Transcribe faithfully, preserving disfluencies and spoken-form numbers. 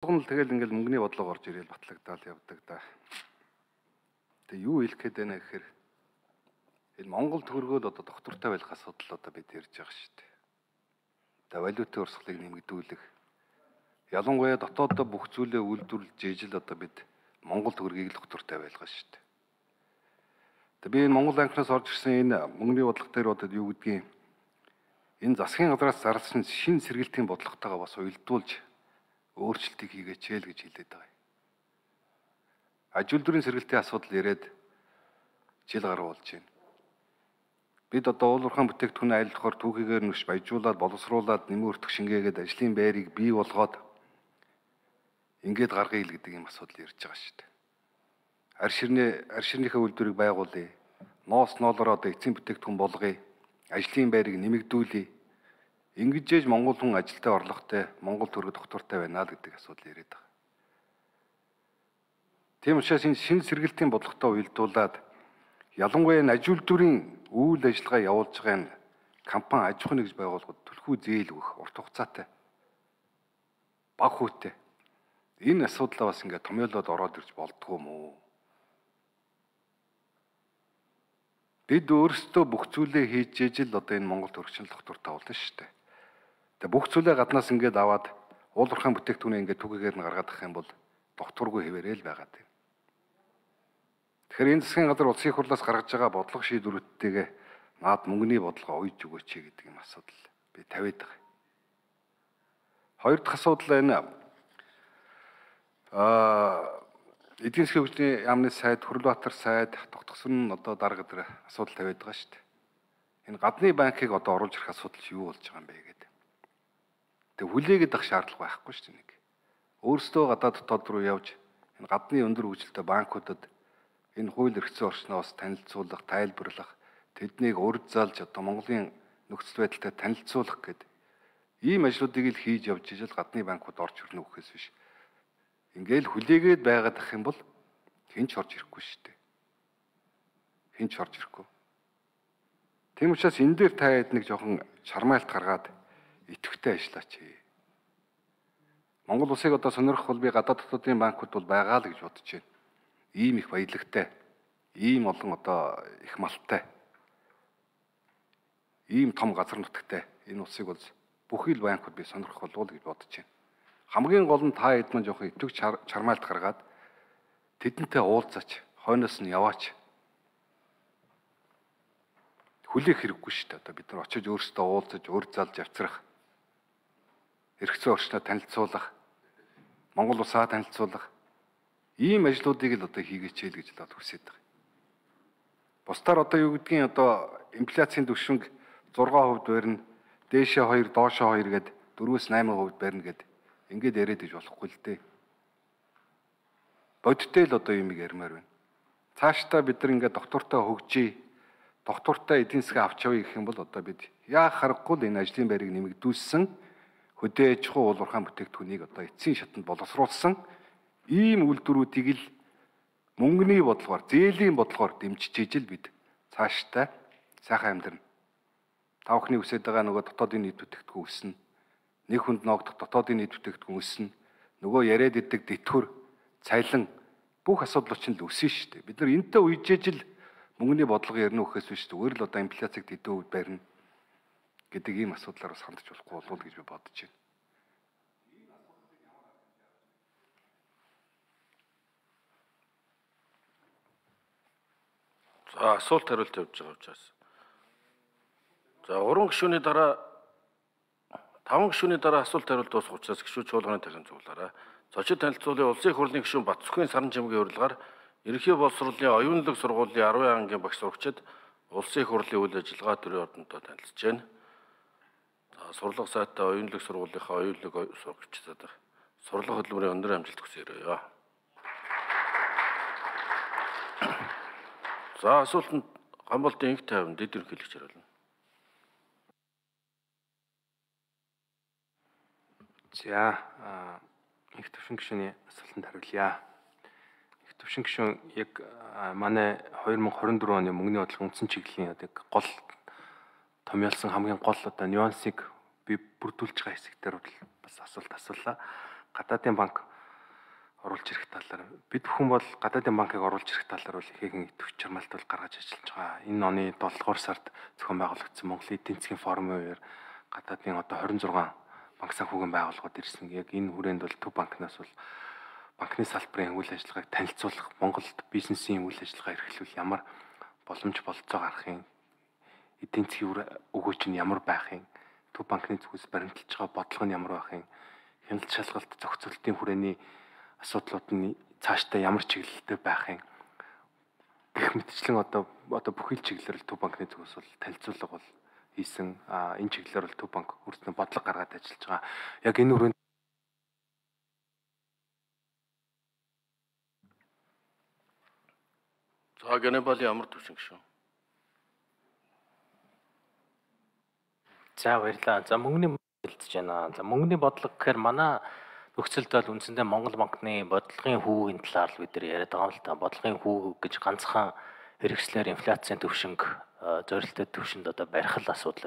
Л тэгэл ингээл мөнгөний бодлого орж ирээл батлагдаал явдаг да. Тэгээ юу хэлэх гээд байна гэхээр энэ Монгол төгрөгөд одоо доктортой байх асуудал одоо бид ярьж байгаа шүү дээ. Тэгээ валютын урсгалыг нэмэгдүүлэх. Ялангуяа дотооддоо бүх зүйлээ үйлдвэрлэж ижил одоо бид Монгол төгрөгийг л доктортой байлгаа шүү дээ. Тэгээ би энэ Монгол банкнаас орж ирсэн энэ мөнгөний бодлого дээр одоо юу гэдгийг энэ засгийн газраас зарласан шинэ сэргэлтийн бодлоготойгоо бас уялдуулж өөрчлөлтийг хийгээч л гэж хэлээд байгаа. Аж үйлдвэрийн сэргэлтийн асуудал яриад жил гаруй болж байна. Бид одоо уул уурхайн бүтээгдэхүүн айллахаар түүхийгээр нүш баяжуулаад боловсруулад нэмэн өртөх шингээгээд ажлын байрыг бий болгоод ингээд гаргая л гэдэг юм асуудал ярьж байгаа шүү дээ. Арь ширнээ арь ширнийхээ үйлдвэрийг байгуулъя. Ноос ноолоор одоо эцсийн бүтээгдэхүүн болгоё. Ажлын байрыг нэмэгдүүлье. Ингэж Монгол хүн ажилдаа орлоготой, Монгол төгрөг доктортой байна л гэдэг асуудал яриад байгаа. Тийм учраас энэ шинэ сэргэлтийн бодлоготой уялдуулаад ялангуяа аж үйлдвэрийн үйл ажиллагаа явуулж байгаа энэ компани аж ахуйн нэгж байгууллагууд түлхүү зээл өгөх урт хугацаатай бага хүүтэй. Энэ асуудлаа бас ингээд томьёолоод ороод ирж болдгоо юм уу? Бид өөрсдөө бүх зүйлээ хийж ижил одоо энэ Монгол төрөгчн доктортой болно шүү дээ. Тэгээ бүх зүйлээ гаднаас ингээд аваад уул уурхайн бүтээгдэхүүнээ ингээд түгээгээр нь гаргаад авах юм бол докторгүй хэвээрэл байгаад байна. Тэгэхээр энэ засгийн газар улсын хурлаас гаргаж байгаа бодлого шийдвэрүүдтэйгээ наад мөнгөний бодлого уйж өгөөч гэдэг юм асуудал би тавиад байгаа. Хоёр дахь асуудал энэ аа эдийн засгийн хөгжлийн яамны сайд, Хүрлбаатар сайд, тогтгосон нь одоо дарга дээр асуудал тавиад байгаа шүү дээ. Энэ гадны банкыг одоо оруулж ирэх асуудал юу болж байгаа юм бэ гэдэг. Тэг хүлээгээд ах шаардлага байхгүй шүү дээ нэг. Өөрсдөө гадаад дотоод руу явж энэ гадны өндөр хөгжилтэй банкудад энэ хууль эрхцэн орчноос танилцуулах, тайлбарлах, тэднийг урд залж одоо Монголын нөхцөл байдалтай танилцуулах гэдэг ийм ажлуудыг л хийж явж ижил гадны банкуд орж ирнэ үхээс биш. Ингээл хүлээгээд байгаад ах юм бол хэн ч орж ирэхгүй шүү дээ. Хэн ч орж ирэхгүй. Тийм учраас энэ дээр та хэд нэг жоохон чармайлт гаргаад идэвхтэй ажиллаач. Монгол улсыг одоо сонирхох бол би гадаад дотоодын банкуд бол байгаа л гэж бодож байна. Ийм их баялагтай, ийм олон одоо их малтай, ийм том газар нутагтай энэ улсыг бол бүхий л банкуд би сонирхох болов гэж бодож байна. Хамгийн гол нь та хэд мань жоох идэвх чармайлт гаргаад тэдэнтэй уулзаач, хойноос нь яваач. Хүлээх хэрэггүй шүү дээ. Одоо бид нар очиж өөрсдөө уулзаж, өр залж авчрах, эрхцэн орчноо танилцуулах, Монгол улсаа танилцуулах ийм ажлуудыг л одоо хийгээч л гэж л хүсэж байгаа. Бусдаар одоо юу гэдгийг одоо инфляцийн түвшинг зургаан хувьд барина, дээшээ хоёр, доошоо хоёр гээд дөрвөөс найман хувьд барина гэд ингээд яриад иж болохгүй л дээ. Бодиттой л одоо юм ярмаар байна. Цаашдаа бид нар ингээд доктортой хөгжиж, доктортой эдийн засгийн авч явъя гэх юм бол одоо бид яа харахгүй л энэ ажлын байрыг нэмэгдүүлсэн, хөдөө аж ахуй уул уурхайн бүтээгдэхүүнийг одоо эцсийн шатанд боловсруулсан ийм үйлдвэрүүдийг л мөнгөний бодлогоор, зээлийн бодлогоор дэмжиж ижил бид цаашдаа сайхан амьдрна. Та бүхний хүсэж байгаа нөгөө дотоодын нийт бүтээгдэхүүн өснө. Нэг хүнд ноогдох дотоодын нийт бүтээгдэхүүн өснө. Нөгөө яриад идэг тэтгэр, цалин бүх асуудлууд чинь л өснө шүү дээ. Бид нар энэтэй үежээж л мөнгөний бодлого ярина үхээс биш зүгээр л одоо инфляцийг тэдэн хувьд барина гэдэг ийм асуудлаар бас хандж болохгүй болов гэж би бодож байна. За асуулт хариулт явуулж байгаа учраас. За гурван гишүүний дараа таван гишүүний дараа асуулт хариулт дуусах учраас гишүүд чуулганы тархин цуглаарай. Зочид танилцуулын улсын хурлын гишүүн Батцүхийн Саран Чимгийн урилгаар ерөнхий боловсролын оюунлаг сургуулийн арван ангийн багш сурагчид улсын хурлын үйл ажиллагаа төрийн ордонтой танилцж байна. За сурлага сайтай оюунлаг сургуулийнхаа оюунлаг сурагчдад сурлага хөтөлбөрийн өндөр амжилт хүсье. За асуултанд Гамболдын инх тайван дэд ерөнхийлөгч хариулна. За инх төвшин гишүүний асуултанд хариулъя. Инх төвшин гишүүн яг манай две тысячи двадцать четыре оны мөнгөний бодлогын үндсэн чиглэлийн одоо гол томьёолсон хамгийн гол одоо нюансыг би бүрдүүлж байгаа хэсэгтэр бас асуулт асуулаа. Гадаадын банк оруулж ирэх талаар бид бүхэн бол гадаадын банкыг оруулж ирэх талаар бол ихээхэн идэвх чармаалт бол гаргаж ажиллаж байгаа. Энэ оны долдугаар сард зохион байгуулагдсан Монголын эдийн засгийн форумын үеэр гадаадын одоо хорин зургаан банк санхүүгийн байгууллагууд ирсэн. Яг энэ хүрээнд бол Төв банкнаас бол банкны салбарын үйл ажиллагааг танилцуулах, Монголд бизнесийн үйл ажиллагаа эрхлүүл ямар боломж болцоо гарахын, эдийн засгийн өгөөч нь ямар байхын, Төв банкны зүгээс баримталж байгаа бодлого нь ямар байхын, хяналт шалгалт зохицуултын хүрээний асуудлууд нь цаашдаа ямар чиглэлтэй байхын гэх мэтчлэн одоо одоо бүхэл чиглэлээр Төв банкны зүгээс бол танилцуулга бол хийсэн. А энэ чиглэлээр бол Төв банк хүртэн бодлого гаргаад ажиллаж байгаа. Яг энэ хүрээнд За Ганебали ямар төвшин гişүн? За баярлалаа. За мөнгөний хэлцэж байна. За мөнгөний бодлого гэхээр манай нөхцөлд бол үндсэндээ Монгол банкны бодлогын хүүгийн талаар л бид нар яриад байгаа юм л та. Бодлогын хүүг гэж ганцхан хэрэгслэр инфляцийн төвшинг зорилттой төвшөнд одоо барих л асуудал